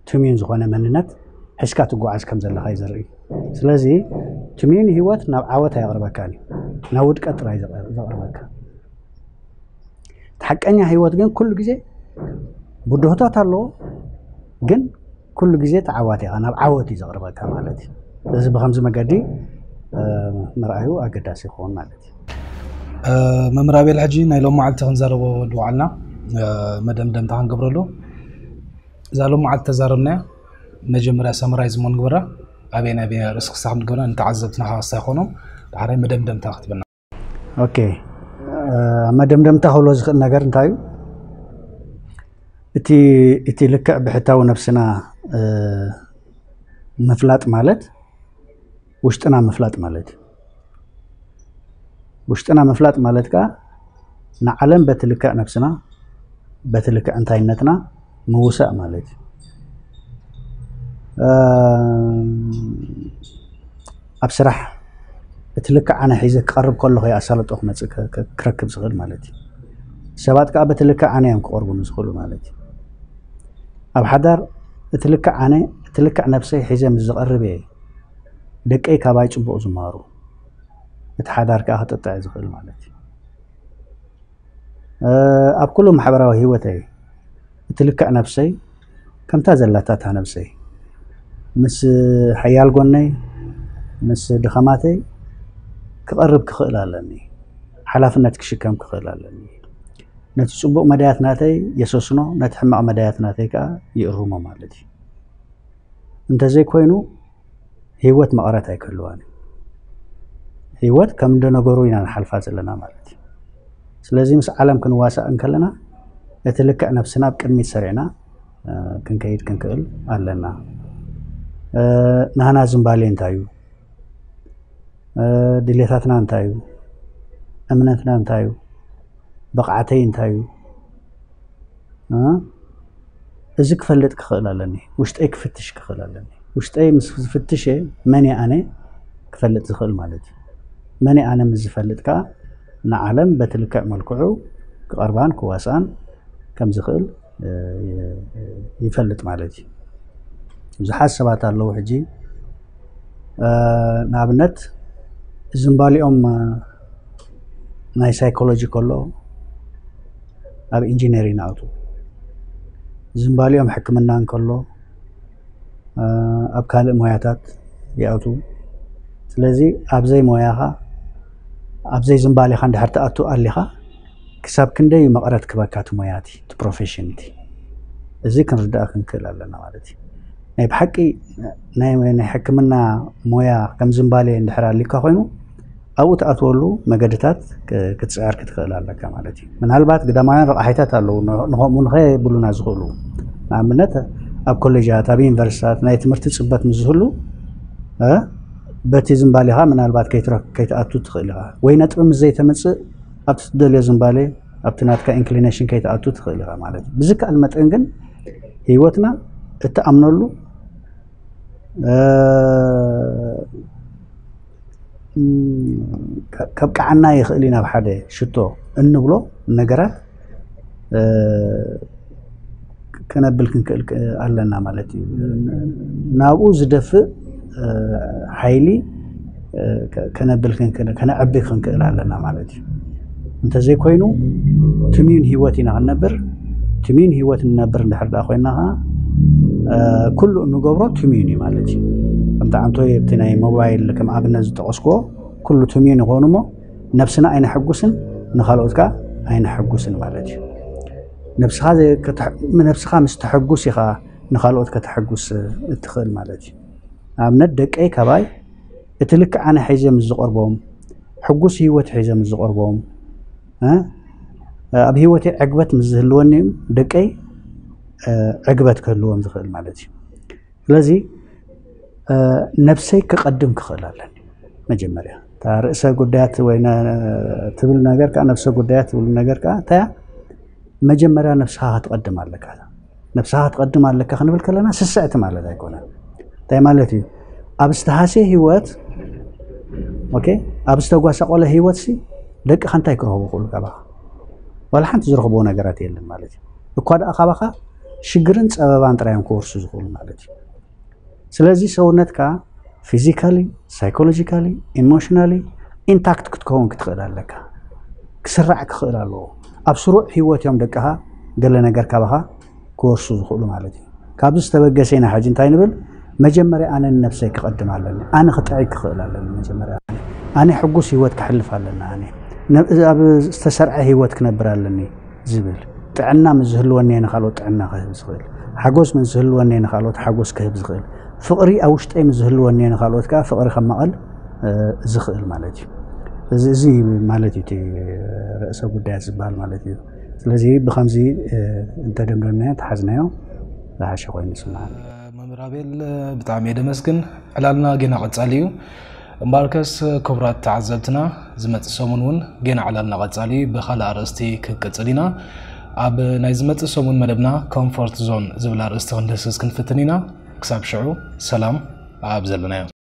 ትምዩን ዝኾነ መንነት ሒዝካ ትጓዓዝ ከም ዘለኻ እዩ ዘርኢ። ስለዚ ትምዩን ህይወት ናብ ዓወት ኣየቕርበካን እዩ፣ ናብ ውድቀት ጥራይ ዘቕርበካ። እቲ ሓቀኛ ህይወት ግን ኩሉ ግዜ ብድሆታት ኣለዎ፣ ግን ኩሉ ግዜ ተዓዋቲ ኢኻ፣ ናብ ዓወት እዩ ዘቕርበካ ማለት እዩ። እዚ ብከምዚ መገዲ ምርኣዩ ኣገዳሲ ይኸውን ማለት እዩ። መምህር ኣቤል፣ ሕጂ ናይ ሎም መዓልቲ ክንዛረቦ ድውዓልና መደምደምታ ክንገብረሉ። እዛ ሎም መዓልቲ ተዛረብናያ መጀመርያ ሰመራይዝ ሞ ንግበራ፣ ኣበይ ናይ ኣበይ ርእሲ ክስታ ክንግበራ ንተዓዘብትና ካስታ ይኾኖም። ዳሕራይ መደምደምታ ክትበና። ኦኬ፣ መደምደምታ ክብሎ ዝኽእል ነገር እንታይ እዩ? እቲ እቲ ልክዕ ብሕታዊ ነብስና ምፍላጥ ማለት ውሽጥና ምፍላጥ ማለት እዩ። ውሽጥና ምፍላጥ ማለት ከዓ ንዓለም በቲ ልክዕ ነብስና በቲ ልክዕ እንታይነትና ምውሳእ ማለት እዩ። ኣብ ስራሕ እቲ ልክዕ ኣነ ሒዘ ክቐርብ ከለኹ ኣሳልጦ ክመፅእ ክረክብ ዝኽእል ማለት እዩ። ሰባት ከዓ በቲ ልክዕ ኣነ እዮም ክቐርቡኒ ዝኽእሉ ማለት እዩ። ኣብ ሓዳር እቲ ልክዕ ኣነ እቲ ልክዕ ነብሰይ ሒዘ ምስ ዝቐርብ እየ ደቀይ ካባይ ፅቡቕ ዝመሃሩ፣ እቲ ሓዳር ከዓ ክጥጥዕ ዝኽእል ማለት እዩ። ኣብ ኩሉ ማሕበራዊ ህይወተይ እቲ ልክዕ ነብሰይ ከምታ ዘላታ እታ ነብሰይ ምስ ሓያል ጎነይ ምስ ድኸማተይ ክቐርብ ክኽእል ኣለኒ። ሓላፍነት ክሽከም ክኽእል ኣለኒ። ነቲ ፅቡቕ መዳያት ናተይ የሰስኖ፣ ነቲ ሕማቕ መዳያት ናተይ ከዓ ይእርሞ ማለት እዩ። እንተዘይኮይኑ ህይወት መቐረት ኣይክህልዋን እዩ። ህይወት ከም እንደ ነገሩ ኢና ንሓልፋ ዘለና ማለት እዩ። ስለዚ ምስ ዓለም ክንዋሳእ እንከለና እቲ ልክዕ ነብስና ኣብ ቅድሚት ሰሪዕና ክንከይድ ክንክእል ኣለና። ናህና ዝምባሌ እንታይ እዩ? ድሌታትና እንታይ እዩ? እምነትና እንታይ እዩ? ብቕዓተይ እንታይ እዩ? እዚ ክፈልጥ ክኽእል ኣለኒ። ውሽጠይ ክፍትሽ ክኽእል ኣለኒ። ውሽጠይ ምስ ዝፍትሸ መን እየ ኣነ ክፈልጥ ዝኽእል ማለት እዩ። መን እየ ኣነ ምስ ዝፈልጥ ከዓ ንዓለም በቲ ልክዕ መልክዑ ክቐርባን ክዋስኣን ከም ዝኽእል ይፈልጥ ማለት እዩ። ብዙሓት ሰባት ኣለዉ ሕጂ ንኣብነት ዝምባሊኦም ናይ ሳይኮሎጂ ከሎ ኣብ ኢንጂነሪንግ ኣውቱ ዝምባሊኦም ሕክምና እንከሎ ኣብ ካልእ ሞያታት ይኣቱ። ስለዚ ኣብዘይ ሞያኻ ኣብዘይ ዝምባሌኻ እንድሕር ትኣቱ ኣሊኻ ክሳብ ክንደይ እዩ መቐረት ክበካ እቲ ሞያ እቲ ፕሮፌሽን እቲ እዚ ክንርዳእ ክንክእል ኣለና ማለት እዩ። ናይ ብሓቂ ናይ ናይ ሕክምና ሞያ ከም ዝምባሌ እንድሕር ኣልካ ኮይኑ ኣብኡ ትኣትወሉ መገድታት ክትፅዕር ክትኽእል ኣለካ ማለት እዩ። ምናልባት ግዳማውያን ረቕሒታት ኣለዉ ንኸምኡ ንኸየብሉና ዝኽእሉ። ንኣብነት ኣብ ኮሌጃት ኣብ ዩኒቨርሲታት ናይ ትምህርቲ ፅበት ምስ ዝህሉ በቲ ዝምባሌኻ ምናልባት ከይትኣቱ ትኽእል ኢኻ፣ ወይ ነጥቢ ምስ ዘይተምፅእ ኣብቲ ትደልዮ ዝምባሌ ኣብቲ ናትካ ኢንክሊኔሽን ከይትኣቱ ትኽእል ኢኻ ማለት እዩ። ብዝከኣል መጠን ግን ህይወትና እትኣምነሉ ከብቅዓና ይኽእል እዩ ናብ ሓደ ሽቶ እንብሎ ነገራት ከነብል ክንክእል ኣለና ማለት እዩ። ናብኡ ዝደፍእ ሓይሊ ከነብል ክንክእል ከነዕቢ ክንክእል ኣለና ማለት እዩ። እንተዘይኮይኑ ትምዩን ህይወት ኢና ክንነብር። ትምዩን ህይወት ንነብር እንድሕር ደኣ ኮይና ከዓ ኩሉ እንገብሮ ትምዩን እዩ ማለት እዩ። ከምቲ ዓንቶይ ኣብቲ ናይ ሞባይል ከም ኣብነት ዝጠቐስክዎ ኩሉ ትምዩን ይኾኑ እሞ ነብስና ኣይነሐጉስን፣ ንኻልኦት ከዓ ኣይነሐጉስን ማለት እዩ። ነብስኻ ምስ ተሐጉስ ኢኻ ንኻልኦት ከተሐጉስ እትኽእል ማለት እዩ። ኣብነት ደቀይ ካባይ እቲ ልክዕ ኣነ ሒዘ ምስ ዝቐርቦም፣ ሕጉስ ህይወት ሒዘ ምስ ዝቐርቦም፣ ኣብ ህይወተይ ዕግበት ምስ ዝህልወኒ ደቀይ ዕግበት ክህልዎም ዝኽእል ማለት እዩ። ስለዚ ነብሰይ ክቐድም ክኽእል ኣለኒ። መጀመርያ እታ ርእሰ ጉዳያት ወይ ትብል ነገር ከዓ ነብሰ ጉዳያት ትብል ነገር ከዓ እንታይ መጀመርያ ነብስኻ ክትቐድም ኣለካ። ነብስኻ ክትቐድም ኣለካ ክንብል ከለና ስስዕቲ ማለት ኣይኮነን። እንታይ ማለት እዩ? ኣብ ዝተሃስየ ህይወት ኦኬ፣ ኣብ ዝተጓሳቆለ ህይወት ሲ ደቅኻ እንታይ ክረኽቡ ክእሉ ካባኻ? ዋላ ሓንቲ ዝረኽብዎ ነገራት የለን ማለት እዩ። እኳ ደኣ ካባኻ ሽግርን ፀበባን ጥራዮም ክወርሱ ዝኽእሉ ማለት እዩ። ስለዚ ሰውነትካ ፊዚካሊ፣ ሳይኮሎጂካሊ፣ ኢሞሽናሊ ኢንታክት ክትከውን ክትኽእል ኣለካ። ክስራዕ ክኽእል ኣለዎ። ኣብ ስሩዕ ህይወት እዮም ደቅኻ ገለ ነገር ካባኻ ክወርሱ ዝኽእሉ ማለት እዩ። ካብዚ ዝተበገሰ ኢና ሕጂ እንታይ ንብል? መጀመርያ ኣነ ንነብሰይ ክቐድም ኣለኒ። ኣነ ክጥዕይ ክኽእል ኣለኒ። መጀመርያ ኣነ ሕጉስ ህይወት ክሕልፍ ኣለኒ። ኣነ ኣብ ዝተሰርዐ ህይወት ክነብር ኣለኒ ዝብል ጥዕና ምስ ዝህልወኒ ንካልኦት ጥዕና ክህብ ዝኽእል፣ ሓጎስ ምስ ዝህልወኒ ንካልኦት ሓጎስ ክህብ ዝኽእል፣ ፍቕሪ ኣብ ውሽጠይ ምስ ዝህልወኒ ንካልኦት ከዓ ፍቕሪ ከማቐል ዝኽእል ማለት እዩ። እዚ ማለት እዩ እቲ ርእሰ ጉዳያት ዝበሃል ማለት እዩ። ስለዚ ብከምዚ እንተደምደምናዮ ተሓዝናዮ ዝሓሸ ኮይኑ ይስምዓኒ። መምህር ኣቤል፣ ብጣዕሚ እየ ደመስግን። ዕላልና ጌና ቀጻሊ እዩ። እምበኣርከስ ክቡራት ተዓዘብትና፣ ዝመጽእ ሰሙን እውን ጌና ዕላልና ቀጻሊ እዩ። ብኻልእ ኣርእስቲ ክንቅጽል ኢና። ኣብ ናይ ዝመጽእ ሰሙን መደብና ኮምፎርት ዞን ዝብል ኣርእስቲ ክንድህስስ ክንፍትን ኢና። ክሳብ ሽዑ ሰላም ኣብ ዘለናዮ።